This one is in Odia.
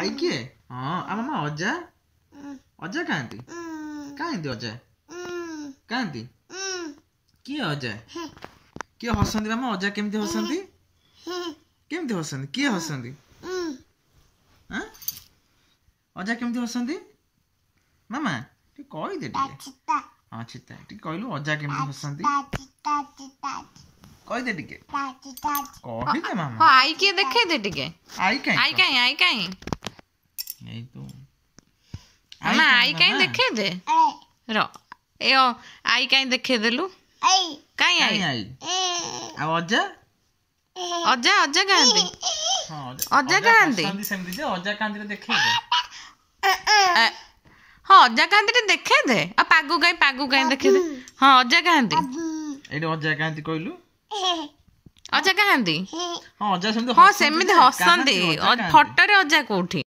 I କିଏ? ହଁ, ଆଉ ମାମା ଅଜା, ଅଜା କାହାନ୍ତି? କାହାନ୍ତି ଅଜା କାହାନ୍ତି? କିଏ ଅଜା? କିଏ ହସନ୍ତି ମାମା? ଅଜା କେମିତି ହସନ୍ତି? କେମିତି ହସନ୍ତି? କିଏ ହସନ୍ତି? ଆଁ, ଅଜା କେମିତି ହସନ୍ତି ମାମା? ଟିକେ କହିଦେ ଟିକେ। ହଁ, ଚିତା, ଟିକେ କହିଲୁ ଅଜା କେମିତି ହସନ୍ତି, କହିଦେ ଟିକେ, କହିଦେ ମାମା। ହଁ, I କିଏ ଦେଖେଇ ଦେ ଟିକେ। I କାଇଁ? I କାଇଁ? I କାଇଁ? ଏଇ ତୁ। ମାମା, I କାଇଁ ଦେଖେଇ ଦେ ର। ଏ I କାଇଁ ଦେଖେଇ ଦେଲୁ? କାଇଁ I? I ଆଉ ଅଜା? ଅଜା, ଅଜା କାହାନ୍ତି? ଅଜା କାହାନ୍ତି? ସେମିତି ଯେ ଅଜା କାହାନ୍ତି ଦେଖେଇ ଦେ। ହଁ, ଅଜା କାହାନ୍ତି ଟିକେ ଦେଖେଇ ଦେ। ଆଉ ପାଗୁ କାଇଁ? ପାଗୁ କାଇଁ ଦେଖେଇ ଦେ। ହଁ, ଅଜା କାହାନ୍ତି? ଏଇଠି ଅଜା କାହାନ୍ତି କହିଲୁ? ଅଜା କାହାନ୍ତି? ହଁ, ଅଜା ସେମିତି। ହଁ, ସେମିତି ହସନ୍ତି ଫଟୋରେ। ଅଜା କୋଉଠି?